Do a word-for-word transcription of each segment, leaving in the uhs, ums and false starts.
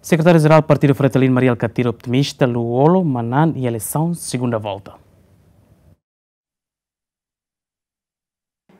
Sekretáriu-Jerál Partidu Fretilin, Mari Alkatiri, optimista Lú-Olo manán iha eleisaun segunda volta.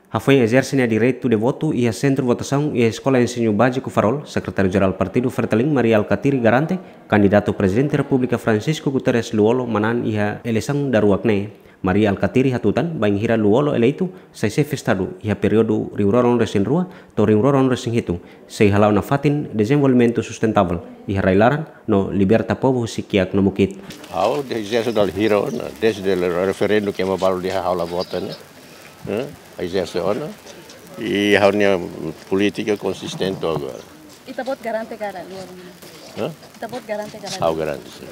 Hafoin ezerse nia direitu de votu iha sentru votasaun iha Eskola Ensiñu Báziku Farol, Sekretáriu-Jerál Partidu Fretilin, Mari Alkatiri, garante kandidatu Prezidente Repúblika Francisco Guterres Lú-Olo manán iha eleisaun daruak ne'e. Mari Alkatiri hatutan, bainhira Lú-Olo eleitu sai xefe Estadu iha períodu rihun rua ruanulu-resin-rua to'o rihun rua ruanulu-resin-hitu, sei hala'o nafatin dezenvolvimentu sustentavel iha rai-laran no liberta povu husi kiak no mukit. Ha'u ezerse dala hira ona, dezde referendu ke ema balu dehan ha'u la vota ne'e. Eh? Ezerse ona. I ha'u-nia polítika konsistente agora. Ita-boot garante ka lae, Lú-Olo? Hã? Ita-boot garante ka lae? Ha'u garante, sin.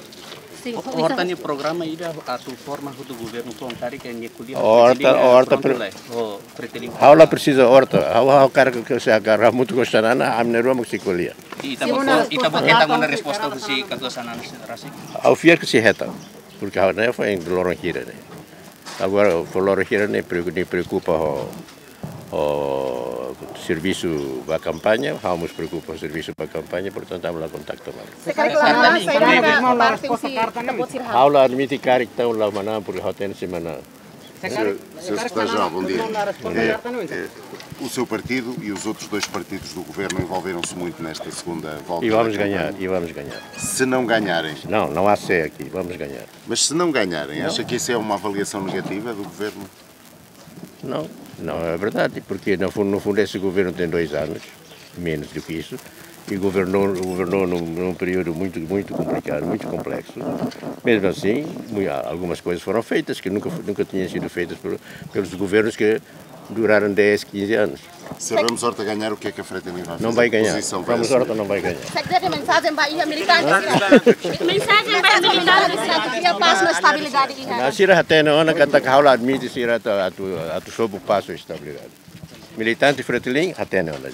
Sin. Ho-, horta nia programa ida atu forma hotu governu foun karik nia ko'alia. Horta, Fretilin, horta prontu pre- lae. Ho Fretilin. Ha'u la presiza horta. Ha'u, ha'u hakarak, se hakarak hamutuk ho Xanana, ami na'in-rua mak sei ko'alia. Ita-boot, ita-boot hetan ona resposta husi katuas Xanana rasik? Ha'u fiar ke sei hetan. Porke ha'u ne'e foin loron hira ne'e. Agora, fó loron hira ne'e preoku-, nia preokupa ho, ho servisu ba kampaña, ha'u mós preokupa ho servisu ba kampaña, portantu, ami la kontaktu malu. Se karik la manán, saida mak parte husi ita-boot sira halo? Ha'u la admite karik ita la manán, porke ha'u hatene sei manán. Senhor, senhor Secretário-Geral, bom dia. É, é, o seu partido e os outros dois partidos do governo envolveram-se muito nesta segunda volta da campanha. E vamos ganhar, e vamos ganhar. Se não ganharem? Não, não há se aqui, vamos ganhar. Mas se não ganharem, acha que isso é uma avaliação negativa do governo? Não, não é verdade, porque no fundo, no fundo esse governo tem dois anos, menos do que isso, e governou, governou num, num período muito, muito complicado, muito complexo. Mesmo assim, mui-, algumas coisas foram feitas que nunca, nunca tinham sido feitas por, pelos governos que duraram dez, quinze anos. Se Ramos Horta ganhar, o que é que a Fretilin vai fazer? Não vai ganhar. Que posição vai assumir? Ramos Horta não vai ganhar. Sekretáriu, mensajen ba iha militante sira. Mensajen ba iha militante sira. Iha pás no estabilidade iha. Sira hatene ona katak ha'u la admite sira atu, atu, atu sobu pás no estabilidade. Militante Fretilin hatene ona.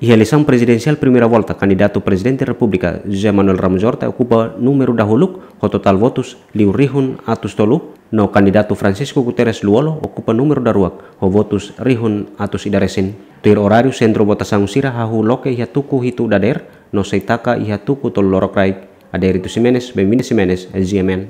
Iha eleisaun prezidensiál primeira volta, kandidatu Prezidente Repúblika José Manuel Ramos Horta okupa númeru dahuluk ho totál votus liu rihun atus tolu, no kandidatu Francisco Guterres Lú-Olo okupa númeru daruak ho votus rihun atus ida resin. Tuir oráriu, sentru votasaun sira hahú loke iha tuku hitu dadeer, no sei taka iha tuku tolu lorokraik. Adérito Ximenes, Benvinda Ximenes, G M N.